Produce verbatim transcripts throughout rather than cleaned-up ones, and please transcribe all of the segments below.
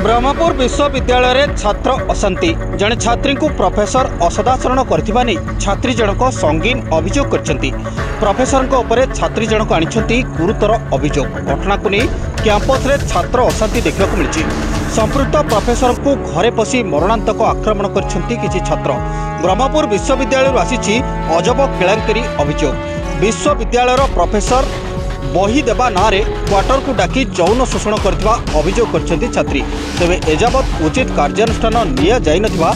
ବ୍ରହ୍ମପୁର ବିଶ୍ୱବିଦ୍ୟାଳୟରେ ଛାତ୍ର ଅଶାନ୍ତି। ଜଣେ ଛାତ୍ରୀଙ୍କୁ ପ୍ରଫେସର ଅସଦାଚରଣ କରିଥିବା ନେଇ ଛାତ୍ରୀ ଜଣକ ସଙ୍ଗୀନ ଅଭିଯୋଗ କରିଛନ୍ତି। ପ୍ରଫେସରଙ୍କ ଉପରେ ଛାତ୍ରୀ ଜଣକ ଆଣିଛନ୍ତି ଗୁରୁତର ଅଭିଯୋଗ। ଘଟଣାକୁ ନେଇ କ୍ୟାମ୍ପସରେ ଛାତ୍ର ଅଶାନ୍ତି ଦେଖିବାକୁ ମିଳିଛି। ସମ୍ପୃକ୍ତ ପ୍ରଫେସରଙ୍କୁ ଘରେ ପଶି ମରଣାନ୍ତକ ଆକ୍ରମଣ କରିଛନ୍ତି କିଛି ଛାତ୍ର। ବ୍ରହ୍ମପୁର ବିଶ୍ୱବିଦ୍ୟାଳୟରୁ ଆସିଛି ଅଜବ କେଳେଙ୍କାରୀ ଅଭିଯୋଗ। ବିଶ୍ୱବିଦ୍ୟାଳୟର ପ୍ରଫେସର ବହି ଦେବା ନାଁରେ କ୍ୱାର୍ଟରକୁ ଡାକି ଯୌନ ଶୋଷଣ କରିଥିବା ଅଭିଯୋଗ କରିଛନ୍ତି ଛାତ୍ରୀ। ତେବେ ଏଯାବତ୍ ଉଚିତ କାର୍ଯ୍ୟାନୁଷ୍ଠାନ ନିଆଯାଇନଥିବା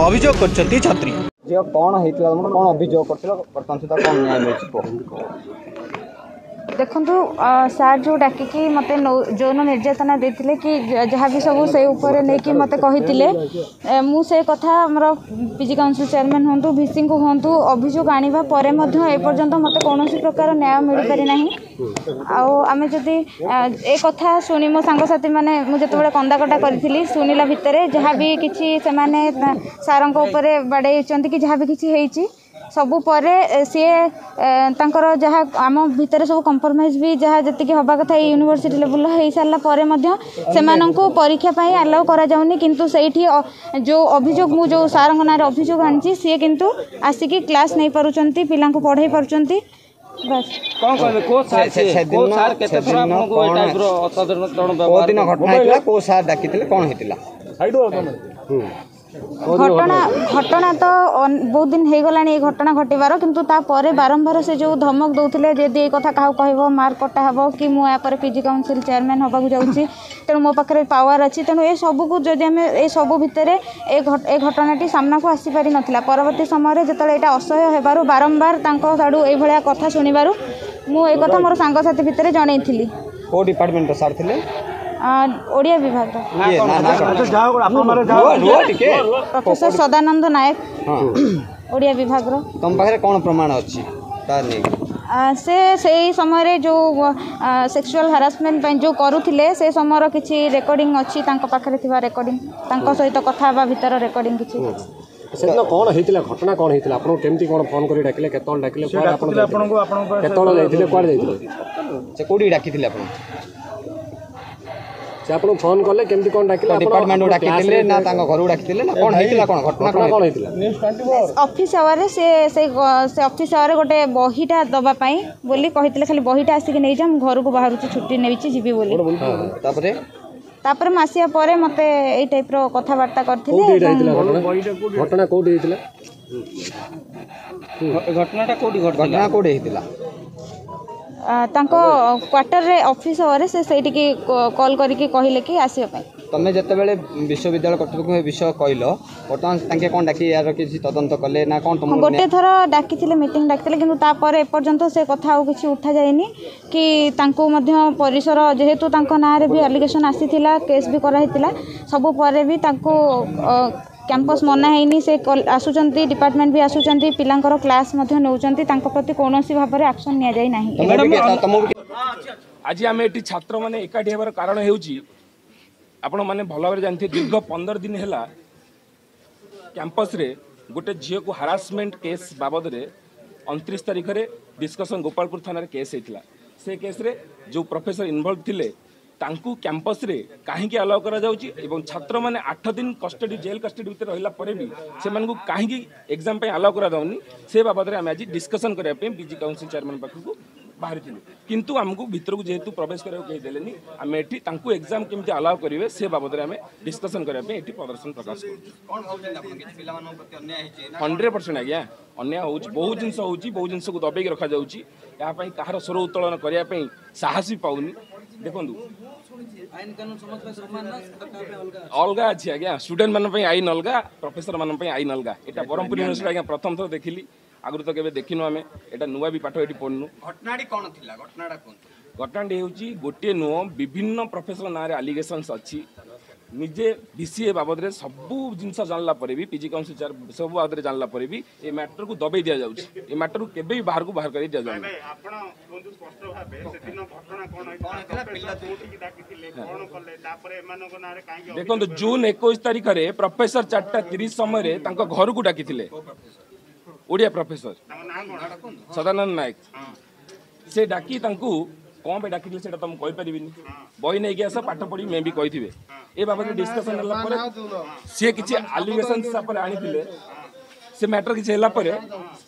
ଅଭିଯୋଗ କରିଛନ୍ତି ଛାତ୍ରୀ। ଝିଅ, କ'ଣ ହେଇଥିଲା ତମର? କ'ଣ ଅଭିଯୋଗ କରିଥିଲ? ବର୍ତ୍ତମାନ ସୁଦ୍ଧା କ'ଣ ନ୍ୟାୟ ମିଳିଛି କୁହ। ଦେଖନ୍ତୁ ସାର୍, ଯେଉଁ ଡାକିକି ମୋତେ ଯୌନ ନିର୍ଯାତନା ଦେଇଥିଲେ କି ଯାହା ବି ସବୁ ସେ ଉପରେ ନେଇକି ମୋତେ କହିଥିଲେ, ମୁଁ ସେ କଥା ଆମର ପି ଜି କାଉନସିଲ୍ ଚେୟାରମ୍ୟାନ୍ ହୁଅନ୍ତୁ, ଭିସିଙ୍କୁ ହୁଅନ୍ତୁ, ଅଭିଯୋଗ ଆଣିବା ପରେ ମଧ୍ୟ ଏପର୍ଯ୍ୟନ୍ତ ମୋତେ କୌଣସି ପ୍ରକାର ନ୍ୟାୟ ମିଳିପାରି ନାହିଁ। ଆଉ ଆମେ ଯଦି ଏ କଥା ଶୁଣି ମୋ ସାଙ୍ଗସାଥିମାନେ, ମୁଁ ଯେତେବେଳେ କନ୍ଦାକଟା କରିଥିଲି, ଶୁଣିଲା ଭିତରେ ଯାହା ବି କିଛି ସେମାନେ ସାର୍ଙ୍କ ଉପରେ ବାଡ଼େଇଛନ୍ତି କି ଯାହା ବି କିଛି ହେଇଛି, ସବୁ ପରେ ସିଏ ତାଙ୍କର ଯାହା ଆମ ଭିତରେ ସବୁ କମ୍ପ୍ରମାଇଜ୍ ବି ଯାହା ଯେତିକି ହେବା କଥା ଏଇ ୟୁନିଭର୍ସିଟି ଲେବୁଲ୍ର ହେଇସାରିଲା ପରେ ମଧ୍ୟ ସେମାନଙ୍କୁ ପରୀକ୍ଷା ପାଇଁ ଆଲାଉ କରାଯାଉନି। କିନ୍ତୁ ସେଇଠି ଯେଉଁ ଅଭିଯୋଗ, ମୁଁ ଯେଉଁ ସାର୍ଙ୍କ ନାଁରେ ଅଭିଯୋଗ ଆଣିଛି, ସିଏ କିନ୍ତୁ ଆସିକି କ୍ଲାସ୍ ନେଇପାରୁଛନ୍ତି, ପିଲାଙ୍କୁ ପଢ଼େଇ ପାରୁଛନ୍ତି, ବାସ୍। କ'ଣ କହିବେ? କୋଉ ସାର୍ କୋଉ ସାର୍ କେତେ ଥର ଆପଣଙ୍କୁ ଏ ଟାଇପ୍ର ଅସାଧାରଣ କୋଉ ଦିନ ଘଟଣା ହେଇଥିଲା? କୋଉ ସାର୍ ଡାକିଥିଲେ? କ'ଣ ହେଇଥିଲା? ଘଟଣା ଘଟଣା ତ ବହୁତ ଦିନ ହେଇଗଲାଣି ଏଇ ଘଟଣା ଘଟିବାର, କିନ୍ତୁ ତାପରେ ବାରମ୍ବାର ସେ ଯେଉଁ ଧମକ ଦେଉଥିଲେ, ଯଦି ଏଇ କଥା କାହାକୁ କହିବ ମାର୍କ କଟା ହେବ, କି ମୁଁ ୟା ପରେ ପି ଜି କାଉନସିଲ୍ ଚେୟାରମ୍ୟାନ୍ ହେବାକୁ ଯାଉଛି, ତେଣୁ ମୋ ପାଖରେ ପାୱାର ଅଛି। ତେଣୁ ଏ ସବୁକୁ ଯଦି ଆମେ ଏ ସବୁ ଭିତରେ ଏ ଏ ଘଟଣାଟି ସାମ୍ନାକୁ ଆସିପାରିନଥିଲା। ପରବର୍ତ୍ତୀ ସମୟରେ ଯେତେବେଳେ ଏଇଟା ଅସହ୍ୟ ହେବାରୁ, ବାରମ୍ବାର ତାଙ୍କ ଆଡ଼ୁ ଏଇଭଳିଆ କଥା ଶୁଣିବାରୁ ମୁଁ ଏ କଥା ମୋର ସାଙ୍ଗସାଥି ଭିତରେ ଜଣେଇଥିଲି। କୋଉ ଡିପାର୍ଟମେଣ୍ଟର ସାର୍ ଥିଲେ? ଓଡ଼ିଆ ବିଭାଗର ପ୍ରଫେସର ସଦାନନ୍ଦ ନାୟକ, ଓଡ଼ିଆ ବିଭାଗର। ତମ ପାଖରେ କ'ଣ ପ୍ରମାଣ ଅଛି ତାର ନେଇକି? ସେ ସେଇ ସମୟରେ ଯେଉଁ ସେକ୍ସୁଆଲ୍ ହାରାସମେଣ୍ଟ ପାଇଁ ଯେଉଁ କରୁଥିଲେ, ସେ ସମୟର କିଛି ରେକର୍ଡ଼ିଂ ଅଛି, ତାଙ୍କ ପାଖରେ ଥିବା ରେକର୍ଡ଼ିଂ, ତାଙ୍କ ସହିତ କଥା ହେବା ଭିତର ରେକର୍ଡ଼ିଂ କିଛି। ସେଦିନ କ'ଣ ହେଇଥିଲା? ଘଟଣା କ'ଣ ହେଇଥିଲା? ଆପଣଙ୍କୁ କେମିତି କ'ଣ ଫୋନ୍ କରି ଡାକିଲେ? କେତେବେଳେ ଡାକିଲେ? କୁଆଡ଼େ ଆପଣ କେତେବେଳେ ଯାଇଥିଲେ? କୁଆଡ଼େ ଯାଇଥିଲେ? ସେ କୋଉଠି ଡାକିଥିଲେ ଆପଣ? ସେ ଆପଣଙ୍କୁ ଫୋନ୍ କଲେ, କେମିତି କ'ଣ ଡାକିଲେ? ଡିପାର୍ଟମେଣ୍ଟକୁ ଡାକିଥିଲେ ନା ତାଙ୍କ ଘରକୁ ଡାକିଥିଲେ ନା କ'ଣ ହେଇଥିଲା? କ'ଣ ଘଟଣା କ'ଣ ହେଇଥିଲା? ଅଫିସ୍ ଆୱାରରେ ସେ ସେଇ ସେ ଅଫିସ୍ ଆୱାରରେ ଗୋଟେ ବହିଟା ଦେବା ପାଇଁ ବୋଲି କହିଥିଲେ, ଖାଲି ବହିଟା ଆସିକି ନେଇଯା, ମୁଁ ଘରକୁ ବାହାରୁଛି, ଛୁଟି ନେଇଛି, ଯିବି ବୋଲି। ତାପରେ ତାପରେ ମୁଁ ଆସିବା ପରେ ମୋତେ ଏଇ ଟାଇପ୍ର କଥାବାର୍ତ୍ତା କରିଥିଲେ। ଘଟଣା କୋଉଠି ହେଇଥିଲା? ଘଟଣାଟା କୋଉଠି? ଘଟଣା କୋଉଠି ହେଇଥିଲା? ତାଙ୍କ କ୍ୱାର୍ଟରରେ, ଅଫିସ୍ ଆୱାରରେ ସେ ସେଇଠିକି କଲ୍ କରିକି କହିଲେ କି ଆସିବା ପାଇଁ। ତମେ ଯେତେବେଳେ ବିଶ୍ୱବିଦ୍ୟାଳୟ କର୍ତ୍ତୃପକ୍ଷ ଏ ବିଷୟ କହିଲ, ବର୍ତ୍ତମାନ ତାଙ୍କେ କ'ଣ ଡାକି ଏହାର କିଛି ତଦନ୍ତ କଲେ ନା କ'ଣ? ତମ ଗୋଟେ ଥର ଡାକିଥିଲେ, ମିଟିଂ ଡାକିଥିଲେ, କିନ୍ତୁ ତାପରେ ଏପର୍ଯ୍ୟନ୍ତ ସେ କଥା ଆଉ କିଛି ଉଠାଯାଇନି କି ତାଙ୍କୁ ମଧ୍ୟ ପରିସର, ଯେହେତୁ ତାଙ୍କ ନାଁରେ ବି ଆଲିଗେସନ୍ ଆସିଥିଲା, କେସ୍ ବି କରାହେଇଥିଲା, ସବୁ ପରେ ବି ତାଙ୍କୁ କ୍ୟାମ୍ପସ୍ ମନା ହେଇନି। ସେ ଆସୁଛନ୍ତି, ଡିପାର୍ଟମେଣ୍ଟ ବି ଆସୁଛନ୍ତି, ପିଲାଙ୍କର କ୍ଲାସ୍ ମଧ୍ୟ ନେଉଛନ୍ତି, ତାଙ୍କ ପ୍ରତି କୌଣସି ଭାବରେ ଆକ୍ସନ୍ ନିଆଯାଇ ନାହିଁ। ଆଜି ଆମେ ଏଠି ଛାତ୍ରମାନେ ଏକାଠି ହେବାର କାରଣ ହେଉଛି, ଆପଣମାନେ ଭଲ ଭାବରେ ଜାଣିଥିବେ, ଦୀର୍ଘ ପନ୍ଦର ଦିନ ହେଲା କ୍ୟାମ୍ପସରେ ଗୋଟେ ଝିଅକୁ ହାରାସମେଣ୍ଟ କେସ୍ ବାବଦରେ ଅଣତିରିଶ ତାରିଖରେ ଡିସ୍କସନ୍ ଗୋପାଳପୁର ଥାନାରେ କେସ୍ ହେଇଥିଲା। ସେ କେସ୍ରେ ଯେଉଁ ପ୍ରଫେସର ଇନଭଲ୍ଭ ଥିଲେ, ତାଙ୍କୁ କ୍ୟାମ୍ପସରେ କାହିଁକି ଆଲାଉ କରାଯାଉଛି ଏବଂ ଛାତ୍ରମାନେ ଆଠ ଦିନ କଷ୍ଟଡି, ଜେଲ୍ କଷ୍ଟଡି ଭିତରେ ରହିଲା ପରେ ବି ସେମାନଙ୍କୁ କାହିଁକି ଏକ୍ଜାମ୍ ପାଇଁ ଆଲାଉ କରାଯାଉନି, ସେ ବାବଦରେ ଆମେ ଆଜି ଡିସ୍କସନ୍ କରିବା ପାଇଁ ପିଜି କାଉନସିଲ୍ ଚେୟାରମ୍ୟାନ୍ ପାଖକୁ ବାହାରିଥିଲୁ। କିନ୍ତୁ ଆମକୁ ଭିତରକୁ ଯେହେତୁ ପ୍ରବେଶ କରିବାକୁ କେହି ଦେଲେନି, ଆମେ ଏଠି ତାଙ୍କୁ ଏକ୍ଜାମ୍ କେମିତି ଆଲାଉ କରିବେ ସେ ବାବଦରେ ଆମେ ଡିସ୍କସନ୍ କରିବା ପାଇଁ ଏଠି ପ୍ରଦର୍ଶନ ପ୍ରକାଶ କରୁଛୁ। ହଣ୍ଡ୍ରେଡ଼ ପରସେଣ୍ଟ ଆଜ୍ଞା ଅନ୍ୟାୟ ହେଉଛି, ବହୁତ ଜିନିଷ ହେଉଛି, ବହୁତ ଜିନିଷକୁ ଦବେଇକି ରଖାଯାଉଛି। ଏହା ପାଇଁ କାହାର ସ୍ୱର ଉତ୍ତୋଳନ କରିବା ପାଇଁ ସାହସ ବି ପାଉନି। ଦେଖନ୍ତୁ, ଅଲଗା ଅଛି ଆଜ୍ଞା, ଷ୍ଟୁଡେଣ୍ଟମାନଙ୍କ ପାଇଁ ଆଇନ ଅଲଗା, ପ୍ରଫେସରମାନଙ୍କ ପାଇଁ ଆଇନ ଅଲଗା। ଏଇଟା ବ୍ରହ୍ମପୁର ୟୁନିଭର୍ସିଟି ଆଜ୍ଞା ପ୍ରଥମ ଥର ଦେଖିଲି, ଆଗରୁ ତ କେବେ ଦେଖିନୁ ଆମେ। ଏଇଟା ନୂଆ ବି ପାଠ ଏଠି ପଢ଼ିନୁ। ଘଟଣାଟି କ'ଣ ଥିଲା? ଘଟଣାଟା କୁହନ୍ତୁ। ଘଟଣାଟି ହେଉଛି, ଗୋଟିଏ ନୁହଁ, ବିଭିନ୍ନ ପ୍ରଫେସର ନାଁରେ ଆଲିଗେସନ୍ସ ଅଛି। ନିଜେ ଭିସି ଏ ବାବଦରେ ସବୁ ଜିନିଷ ଜାଣିଲା ପରେ ବି, ପିଜି କାଉନସିଲ୍ ସବୁ ବାବଦରେ ଜାଣିଲା ପରେ ବି ଏ ମ୍ୟାଟରକୁ ଦବେଇ ଦିଆଯାଉଛି। ଏ ମ୍ୟାଟରକୁ କେବେ ବି ବାହାରକୁ ବାହାର କରି ଦିଆଯାଉନି। ଦେଖନ୍ତୁ, ଜୁନ୍ ଏକୋଇଶ ତାରିଖରେ ପ୍ରଫେସର ଚାରିଟା ତିରିଶ ସମୟରେ ତାଙ୍କ ଘରକୁ ଡାକିଥିଲେ, ଓଡ଼ିଆ ପ୍ରଫେସର ସଦାନନ୍ଦ ନାୟକ। ସେ ଡାକି ତାଙ୍କୁ କ'ଣ ପାଇଁ ଡାକିଥିଲେ ସେଇଟା ତ ମୁଁ କହିପାରିବିନି। ବହି ନେଇକି ଆସ ପାଠ ପଢ଼ି ମେ ବି କହିଥିବେ। ଏ ବାବଦରେ ଡିସ୍କସନ୍ ହେଲା ପରେ ସିଏ କିଛି ଆଲିଗେସନ୍ ହିସାବରେ ଆଣିଥିଲେ। ସେ ମ୍ୟାଟର କିଛି ହେଲା ପରେ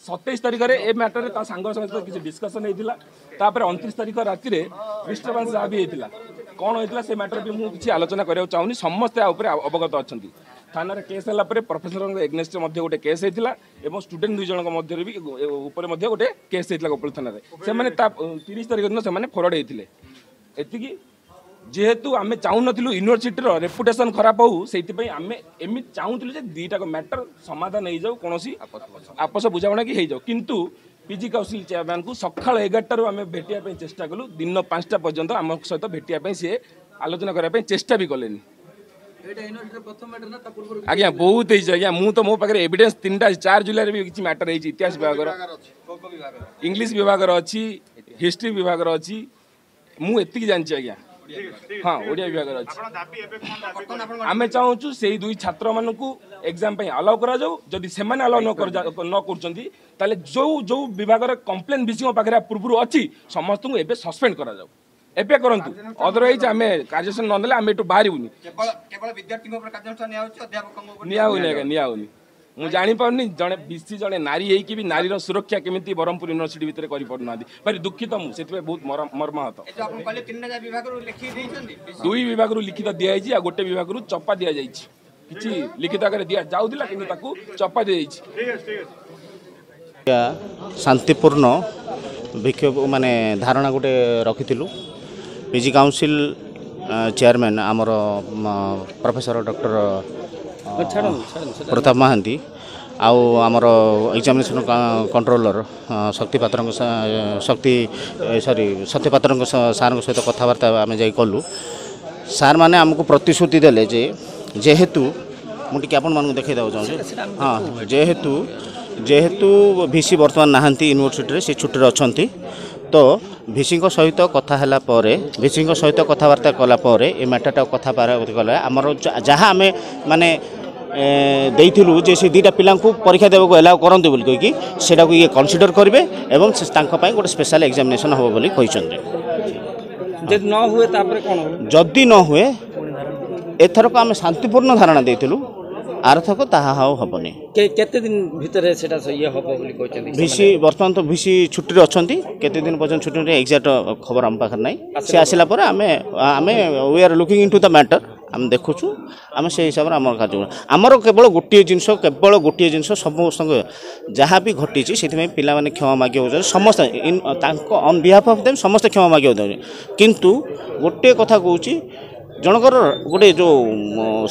ସତେଇଶ ତାରିଖରେ ଏ ମ୍ୟାଟରରେ ତା ସାଙ୍ଗ ସହିତ କିଛି ଡିସ୍କସନ୍ ହେଇଥିଲା। ତାପରେ ଅଣତିରିଶ ତାରିଖ ରାତିରେ ଡିଷ୍ଟର୍ବାନ୍ସ ଯାହା ବି ହେଇଥିଲା, କ'ଣ ହେଇଥିଲା ସେ ମ୍ୟାଟର ବି ମୁଁ କିଛି ଆଲୋଚନା କରିବାକୁ ଚାହୁଁନି। ସମସ୍ତେ ଆ ଉପରେ ଅବଗତ ଅଛନ୍ତି। ଥାନାରେ କେସ୍ ହେଲା ପରେ ପ୍ରଫେସରଙ୍କ ଏଗନେଷ୍ଟରେ ମଧ୍ୟ ଗୋଟେ କେସ୍ ହେଇଥିଲା ଏବଂ ଷ୍ଟୁଡେଣ୍ଟ ଦୁଇ ଜଣଙ୍କ ମଧ୍ୟରେ ବି ଉପରେ ମଧ୍ୟ ଗୋଟେ କେସ୍ ହେଇଥିଲା ଗୋପାଳ ଥାନାରେ। ସେମାନେ ତା ତିରିଶ ତାରିଖ ଦିନ ସେମାନେ ଫରୱାର୍ଡ଼ ହେଇଥିଲେ। ଏତିକି ଯେହେତୁ ଆମେ ଚାହୁଁନଥିଲୁ ୟୁନିଭର୍ସିଟିର ରେପୁଟେସନ୍ ଖରାପ ହଉ, ସେଇଥିପାଇଁ ଆମେ ଏମିତି ଚାହୁଁଥିଲୁ ଯେ ଦୁଇଟାକ ମ୍ୟାଟର ସମାଧାନ ହେଇଯାଉ, କୌଣସି ଆପୋଷ ବୁଝାମଣା କି ହେଇଯାଉ। କିନ୍ତୁ ପିଜି କାଉନସିଲ୍ ଚେୟାରମ୍ୟାନ୍କୁ ସକାଳ ଏଗାରଟାରୁ ଆମେ ଭେଟିବା ପାଇଁ ଚେଷ୍ଟା କଲୁ, ଦିନ ପାଞ୍ଚଟା ପର୍ଯ୍ୟନ୍ତ ଆମ ସହିତ ଭେଟିବା ପାଇଁ ସିଏ ଆଲୋଚନା କରିବା ପାଇଁ ଚେଷ୍ଟା ବି କଲେନି। ଆଜ୍ଞା ବହୁତ ହେଇଛି ଆଜ୍ଞା। ମୁଁ ତ ମୋ ପାଖରେ ଏଭିଡେନ୍ସ ତିନିଟା ଚାରି ଜୁଲାଇରେ ବି କିଛି ମ୍ୟାଟର ହେଇଛି। ଇତିହାସ ବିଭାଗର, ଇଂଲିଶ ବିଭାଗର ଅଛି, ହିଷ୍ଟ୍ରି ବିଭାଗର ଅଛି, ମୁଁ ଏତିକି ଜାଣିଛି ଆଜ୍ଞା। ହଁ, ଓଡ଼ିଆ ବିଭାଗର ଅଛି। ଆମେ ଚାହୁଁଛୁ ସେଇ ଦୁଇ ଛାତ୍ରମାନଙ୍କୁ ଏକ୍ଜାମ ପାଇଁ ଆଲାଉ କରାଯାଉ। ଯଦି ସେମାନେ ଆଲାଉ ନ ନ କରୁଛନ୍ତି ତାହେଲେ ଯେଉଁ ଯେଉଁ ବିଭାଗର କମ୍ପ୍ଲେନ୍ ଭିସିଙ୍କ ପାଖରେ ପୂର୍ବରୁ ଅଛି ସମସ୍ତଙ୍କୁ ଏବେ ସସ୍ପେଣ୍ଡ କରାଯାଉ, ଏବେ କରନ୍ତୁ। ଅଦରୱାଇଜ ଆମେ କାର୍ଯ୍ୟାନୁଷ୍ଠାନ ନ ନେଲେ ଆମେ ଏଠୁ ବାହାରିବୁନି। ନିଆ ହଉନି ଆଜ୍ଞା, ନିଆ ହଉନି। ମୁଁ ଜାଣିପାରୁନି ଜଣେ ବିସି ଜଣେ ନାରୀ ହେଇକି ବି ନାରୀର ସୁରକ୍ଷା କେମିତି ବ୍ରହ୍ମପୁର ୟୁନିଭର୍ସିଟି ଭିତରେ କରିପାରୁନାହାନ୍ତି। ଭାରି ଦୁଃଖିତ ମୁଁ, ସେଥିପାଇଁ ବହୁତ ମର୍ମାହତ। ଦୁଇ ବିଭାଗରୁ ଲିଖିତ ଦିଆଯାଇଛି ଆଉ ଗୋଟେ ବିଭାଗରୁ ଚପା ଦିଆଯାଇଛି। କିଛି ଲିଖିତ ଆକାରରେ ଦିଆଯାଉଥିଲା କିନ୍ତୁ ତାକୁ ଚପା ଦିଆଯାଇଛି। ଶାନ୍ତିପୂର୍ଣ୍ଣ ବିକ୍ଷୋଭ ମାନେ ଧାରଣା ଗୋଟେ ରଖିଥିଲୁ। ପିଜି କାଉନସିଲ୍ ଚେୟାରମ୍ୟାନ୍ ଆମର ପ୍ରଫେସର ଡକ୍ଟର ପ୍ରତାପ ମହାନ୍ତି ଆଉ ଆମର ଏକ୍ଜାମିନେସନ୍ କଣ୍ଟ୍ରୋଲର ଶକ୍ତି ପାତ୍ରଙ୍କ ଶକ୍ତି ସରି ସତ୍ୟ ପାତ୍ରଙ୍କ ସାର୍ଙ୍କ ସହିତ କଥାବାର୍ତ୍ତା ଆମେ ଯାଇ କଲୁ। ସାର୍ମାନେ ଆମକୁ ପ୍ରତିଶ୍ରୁତି ଦେଲେ ଯେ ଯେହେତୁ ମୁଁ ଟିକେ ଆପଣମାନଙ୍କୁ ଦେଖାଇ ଦେବାକୁ ଚାହୁଁଛି, ହଁ, ଯେହେତୁ ଯେହେତୁ ଭିସି ବର୍ତ୍ତମାନ ନାହାନ୍ତି ୟୁନିଭର୍ସିଟିରେ, ସେ ଛୁଟିରେ ଅଛନ୍ତି, ତ ଭିସିଙ୍କ ସହିତ କଥା ହେଲା ପରେ ଭିସିଙ୍କ ସହିତ କଥାବାର୍ତ୍ତା କଲା ପରେ ଏ ମ୍ୟାଟରଟା କଥା କଲା ଆମର ଯାହା ଆମେ ମାନେ ଦେଇଥିଲୁ ଯେ ସେ ଦୁଇଟା ପିଲାଙ୍କୁ ପରୀକ୍ଷା ଦେବାକୁ ଏଲାଉ କରନ୍ତୁ ବୋଲି କହିକି ସେଇଟାକୁ ଇଏ କନସିଡର କରିବେ ଏବଂ ତାଙ୍କ ପାଇଁ ଗୋଟେ ସ୍ପେଶାଲ ଏକ୍ଜାମିନେସନ୍ ହେବ ବୋଲି କହିଛନ୍ତି। ଯଦି ନ ହୁଏ ତାପରେ କ'ଣ? ଯଦି ନ ହୁଏ ଏଥରକ ଆମେ ଶାନ୍ତିପୂର୍ଣ୍ଣ ଧାରଣା ଦେଇଥିଲୁ, ଆରଥରକ ତାହା ଆଉ ହେବନି। କେତେ ଦିନ ଭିତରେ ସେଟା ଇଏ ହେବ ବୋଲି କହିଛନ୍ତି ଭିସି? ବର୍ତ୍ତମାନ ତ ଭିସି ଛୁଟିରେ ଅଛନ୍ତି, କେତେ ଦିନ ପର୍ଯ୍ୟନ୍ତ ଛୁଟିରେ ଏକ୍ଜାକ୍ଟ ଖବର ଆମ ପାଖରେ ନାହିଁ। ସେ ଆସିଲା ପରେ ଆମେ ଆମେ we are looking into the matter, ଆମେ ଦେଖୁଛୁ, ଆମେ ସେଇ ହିସାବରେ ଆମର କାର୍ଯ୍ୟ। ଆମର କେବଳ ଗୋଟିଏ ଜିନିଷ, କେବଳ ଗୋଟିଏ ଜିନିଷ ସମସ୍ତଙ୍କ ଯାହା ବି ଘଟିଛି ସେଥିପାଇଁ ପିଲାମାନେ କ୍ଷମା ମାଗିବାକୁ ଚାହୁଁଛନ୍ତି ସମସ୍ତେ, ତାଙ୍କ ଅନ୍ ବିହାଫ୍ ଅଫ୍ ଦେମ୍ ସମସ୍ତେ କ୍ଷମା ମାଗିବାକୁ ଚାହୁଁଛନ୍ତି। କିନ୍ତୁ ଗୋଟିଏ କଥା କହୁଛି, ଜଣଙ୍କର ଗୋଟେ ଯେଉଁ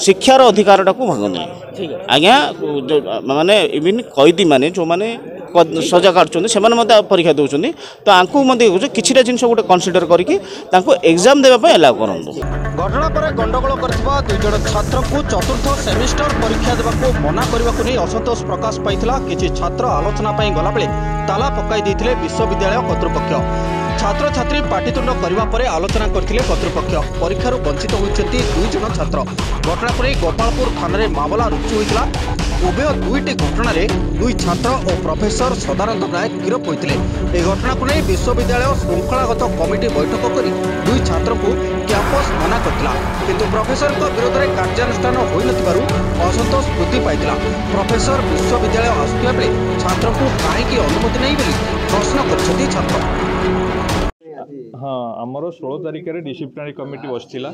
ଶିକ୍ଷାର ଅଧିକାରଟାକୁ ଭାଙ୍ଗନ୍ତୁନି ଆଜ୍ଞା। ମାନେ ଇଭିନ୍ କଏଦୀମାନେ ଯେଉଁମାନେ ସଜା କାଟୁଛନ୍ତି ସେମାନେ ମଧ୍ୟ ପରୀକ୍ଷା ଦେଉଛନ୍ତି, ତ ଆଙ୍କୁ ମଧ୍ୟ କହୁଛୁ କିଛିଟା ଜିନିଷ ଗୋଟେ କନସିଡର କରିକି ତାଙ୍କୁ ଏକ୍ଜାମ୍ ଦେବା ପାଇଁ ଏଲାଉ କରନ୍ତୁ। ଘଟଣା ପରେ ଗଣ୍ଡଗୋଳ କରିଥିବା ଦୁଇ ଜଣ ଛାତ୍ରଙ୍କୁ ଚତୁର୍ଥ ସେମିଷ୍ଟର ପରୀକ୍ଷା ଦେବାକୁ ମନା କରିବାକୁ ନେଇ ଅସନ୍ତୋଷ ପ୍ରକାଶ ପାଇଥିଲା। କିଛି ଛାତ୍ର ଆଲୋଚନା ପାଇଁ ଗଲାବେଳେ ତାଲା ପକାଇ ଦେଇଥିଲେ ବିଶ୍ୱବିଦ୍ୟାଳୟ କର୍ତ୍ତୃପକ୍ଷ। ଛାତ୍ରଛାତ୍ରୀ ପାଟିତୁଣ୍ଡ କରିବା ପରେ ଆଲୋଚନା କରିଥିଲେ କର୍ତ୍ତୃପକ୍ଷ। ପରୀକ୍ଷାରୁ ବଞ୍ଚିତ ହୋଇଛନ୍ତି ଦୁଇ ଜଣ ଛାତ୍ର। ଘଟଣା ପରେ ଗୋପାଳପୁର ଥାନାରେ ମାମଲା ରୁଜୁ ହୋଇଥିଲା। ଉଭୟ ଦୁଇଟି ଘଟଣାରେ ଦୁଇ ଛାତ୍ର ଓ ପ୍ରଫେସର ସଦାନନ୍ଦ ନାୟକ ଗିରଫ ହୋଇଥିଲେ। ଏହି ଘଟଣାକୁ ନେଇ ବିଶ୍ୱବିଦ୍ୟାଳୟ ଶୃଙ୍ଖଳାଗତ କମିଟି ବୈଠକ କରି ଦୁଇ ଛାତ୍ରଙ୍କୁ କ୍ୟାମ୍ପସ ମନା କରିଥିଲା। କିନ୍ତୁ ପ୍ରଫେସରଙ୍କ ବିରୋଧରେ କାର୍ଯ୍ୟାନୁଷ୍ଠାନ ହୋଇନଥିବାରୁ ଅସନ୍ତୋଷ ବୃଦ୍ଧି ପାଇଥିଲା। ପ୍ରଫେସର ବିଶ୍ୱବିଦ୍ୟାଳୟ ଆସୁଥିବା ବେଳେ ଛାତ୍ରଙ୍କୁ କାହିଁକି ଅନୁମତି ନାହିଁ ବୋଲି ପ୍ରଶ୍ନ କରିଛନ୍ତି ଛାତ୍ର। ହଁ, ଆମର ଷୋହଳ ତାରିଖରେ ଡିସିପ୍ଲିନାରୀ କମିଟି ବସିଥିଲା।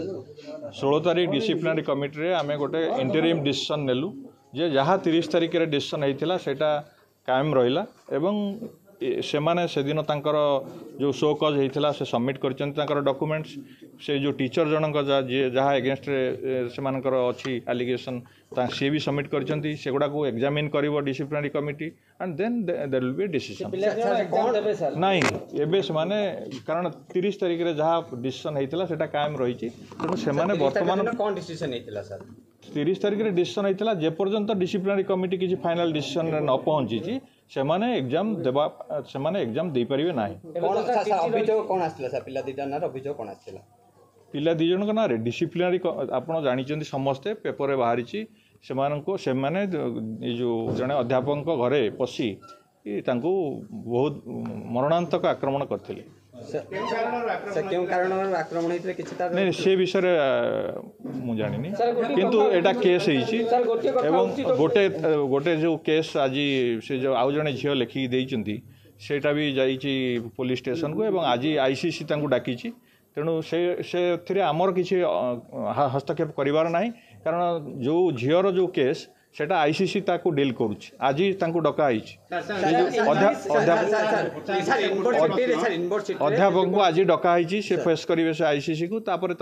ଷୋହଳ ତାରିଖ ଡିସିପ୍ଲିନାରୀ କମିଟିରେ ଆମେ ଗୋଟେ ଇଣ୍ଟରିମ୍ ଡିସିସନ୍ ନେଲୁ ଯେ ଯାହା ତିରିଶ ତାରିଖରେ ଡିସିସନ୍ ହେଇଥିଲା ସେଇଟା କାୟମ ରହିଲା ଏବଂ ସେମାନେ ସେଦିନ ତାଙ୍କର ଯେଉଁ ଶୋ କଜ୍ ହେଇଥିଲା ସେ ସବମିଟ୍ କରିଛନ୍ତି ତାଙ୍କର ଡକୁମେଣ୍ଟସ୍। ସେ ଯେଉଁ ଟିଚର୍ ଜଣଙ୍କ ଯାହା ଯିଏ ଯାହା ଏଗେନଷ୍ଟରେ ସେମାନଙ୍କର ଅଛି ଆଲିଗେସନ୍ ତା ସିଏ ବି ସବମିଟ୍ କରିଛନ୍ତି। ସେଗୁଡ଼ାକୁ ଏକ୍ଜାମିନ୍ କରିବ disciplinary committee and then there will be decision. ନାଇଁ, ଏବେ ସେମାନେ କାରଣ ତିରିଶ ତାରିଖରେ ଯାହା ଡିସିସନ୍ ହେଇଥିଲା ସେଇଟା କାୟମ ରହିଛି, ତେଣୁ ସେମାନେ ବର୍ତ୍ତମାନ କ'ଣ ଡିସିସନ୍ ହେଇଥିଲା ସାର୍? ତିରିଶ ତାରିଖରେ ଡିସିସନ୍ ହେଇଥିଲା ଯେପର୍ଯ୍ୟନ୍ତ ଡିସିପ୍ଲିନାରୀ କମିଟି କିଛି ଫାଇନାଲ୍ ଡିସିସନ୍ରେ ନ ପହଞ୍ଚିଛି ସେମାନେ ଏକ୍ଜାମ୍ ଦେବା ସେମାନେ ଏକ୍ଜାମ୍ ଦେଇପାରିବେ ନାହିଁ। ଅଭିଯୋଗ କ'ଣ ଆସିଥିଲା ସାର୍? ପିଲା ଦୁଇଟା ନାଁରେ ଅଭିଯୋଗ କ'ଣ ଆସିଥିଲା? ପିଲା ଦୁଇ ଜଣଙ୍କ ନାଁରେ ଡିସିପ୍ଲିନାରୀ ଆପଣ ଜାଣିଛନ୍ତି ସମସ୍ତେ, ପେପରରେ ବାହାରିଛି। ସେମାନଙ୍କୁ ସେମାନେ ଏ ଯେଉଁ ଜଣେ ଅଧ୍ୟାପକଙ୍କ ଘରେ ପଶି ତାଙ୍କୁ ବହୁତ ମରଣାନ୍ତକ ଆକ୍ରମଣ କରିଥିଲେ। ସେ କେଉଁ କାରଣରୁ ଆକ୍ରମଣ ହେଇଥିଲେ କିଛି ତାର ନାଇଁ ସେ ବିଷୟରେ ମୁଁ ଜାଣିନି କିନ୍ତୁ ଏଇଟା କେସ୍ ହେଇଛି ଏବଂ ଗୋଟେ ଗୋଟେ ଯେଉଁ କେସ୍ ଆଜି ସେ ଯେଉଁ ଆଉ ଜଣେ ଝିଅ ଲେଖିକି ଦେଇଛନ୍ତି ସେଇଟା ବି ଯାଇଛି ପୋଲିସ ଷ୍ଟେସନକୁ ଏବଂ ଆଜି I C C ତାଙ୍କୁ ଡାକିଛି ତେଣୁ ସେ ସେଥିରେ ଆମର କିଛି ହସ୍ତକ୍ଷେପ କରିବାର ନାହିଁ କାରଣ ଯେଉଁ ଝିଅର ଯେଉଁ କେସ୍ ସେଟା I C C ତାକୁ ଡିଲ୍ କରୁଛି ଆଜି ତାଙ୍କୁ ଡକା ହେଇଛି ଅଧ୍ୟାପକଙ୍କୁ ଆଜି ଡକା ହେଇଛି ସେ ଫେସ୍ କରିବେ ସେ I C ସିକୁ ତାପରେ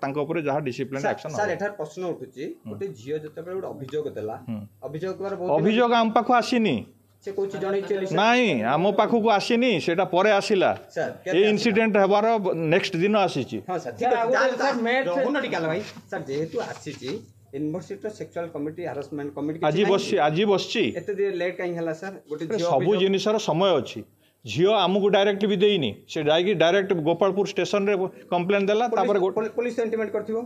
ତାଙ୍କ ଉପରେ ଯାହା ଡିସିପ୍ଲିନ ଆକ୍ସନ୍ ସାର୍ ଏଠାରେ ପ୍ରଶ୍ନ ଉଠୁଛି ଗୋଟେ ଝିଅ ଯେତେବେଳେ ଗୋଟେ ଅଭିଯୋଗ ଦେଲା ଅଭିଯୋଗ ଅଭିଯୋଗ ଆମ ପାଖକୁ ଆସିନି ସେ କହୁଛି ଜଣେଇଛି ନାଇଁ ଆମ ପାଖକୁ ଆସିନି ସେଟା ପରେ ଆସିଲା ଏ ଇନସିଡେଣ୍ଟ ହେବାର ନେକ୍ସଟ ଦିନ ଆସିଛି ହଁ ସାର୍ ଠିକ ଅଛି ଭାଇ ସାର୍ ଯେହେତୁ ଆସିଛି ୟୁନିଭର୍ସିଟିର ସେକ୍ସୁଆଲ କମିଟି ହାରାସମେଣ୍ଟ କମିଟି ଆଜି ବସିଛି ଆଜି ବସିଛି ଏତେ ଲେଟ୍ କାହିଁ ହେଲା ସାର୍ ଗୋଟେ ସବୁ ଜିନିଷର ସମୟ ଅଛି ଝିଅ ଆମକୁ ଡାଇରେକ୍ଟ ବି ଦେଇନି ସେ ଯାଇକି ଡାଇରେକ୍ଟ ଗୋପାଳପୁର ଷ୍ଟେସନରେ କମ୍ପ୍ଲେନ୍ ଦେଲା ତାପରେ ପୋଲିସ ଇଣ୍ଟିମେଟ୍ କରିଥିବ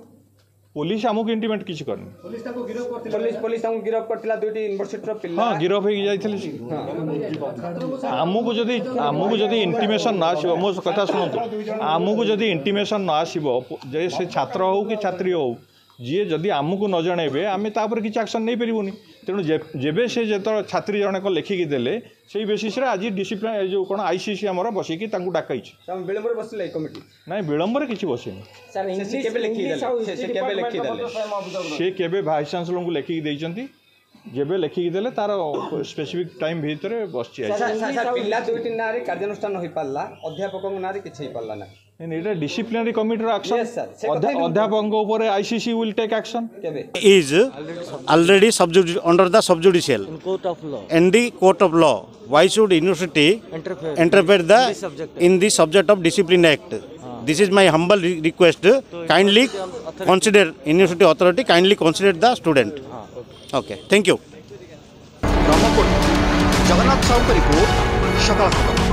ପୋଲିସ ଆମକୁ ଇଣ୍ଟିମେଟ୍ କିଛି କରିନି ପୋଲିସ ପୋଲିସ ତାଙ୍କୁ ଗିରଫ କରିଥିଲା ଦୁଇଟି ୟୁନିଭର୍ସିଟିର ପିଲା ହଁ ଗିରଫ ହେଇକି ଯାଇଥିଲେ ଆମକୁ ଯଦି ଆମକୁ ଯଦି ଇଣ୍ଟିମେସନ୍ ନ ଆସିବ ମୋ କଥା ଶୁଣନ୍ତୁ ଆମକୁ ଯଦି ଇଣ୍ଟିମେସନ୍ ନ ଆସିବ ଯେ ସେ ଛାତ୍ର ହଉ କି ଛାତ୍ରୀ ହଉ ଯିଏ ଯଦି ଆମକୁ ନ ଜଣେଇବେ ଆମେ ତା ଉପରେ କିଛି ଆକ୍ସନ୍ ନେଇପାରିବୁନି ତେଣୁ ଯେବେ ସେ ଯେତେବେଳେ ଛାତ୍ରୀ ଜଣକ ଲେଖିକି ଦେଲେ ସେଇ ବେସିସ୍ରେ ଆଜି ଡିସିପ୍ଲିନ୍ ଏ ଯେଉଁ କ'ଣ I C C ଆମର ବସିକି ତାଙ୍କୁ ଡାକାଇଛି ବିଳମ୍ବରେ ବସିଲା କମିଟି ନାଇଁ ବିଳମ୍ବରେ କିଛି ବସିନି ସେ କେବେ ଭାଇସ୍ ଚାନ୍ସେଲରଙ୍କୁ ଲେଖିକି ଦେଇଛନ୍ତି ଯେବେ ଲେଖିକି ଦେଲେ ତାର ସ୍ପେସିଫିକ୍ ଟାଇମ୍ ଭିତରେ ବସିଛି ପିଲା ଦୁଇଟି ନାଁରେ କାର୍ଯ୍ୟାନୁଷ୍ଠାନ ହୋଇପାରିଲା ଅଧ୍ୟାପକଙ୍କ ନାଁରେ କିଛି ହେଇପାରିଲା ନାହିଁ ଏଇଟା ଡିସିପ୍ଲିନାରୀ କମିଟିର ଆକ୍ସନ୍ ଅଧ୍ୟାପକଙ୍କ ଉପରେ ICC will take action is already sub under the sub-judicial in court of law. In the court of law, why should university interfere, interfere the in, the subject. in the subject of Discipline Act? Ah. This is my humble re request. So kindly authority. consider university authority, kindly consider the student. Ah, okay. Okay, thank you. Jagannath ସାହୁଙ୍କ report ସକାଳ ଖବର।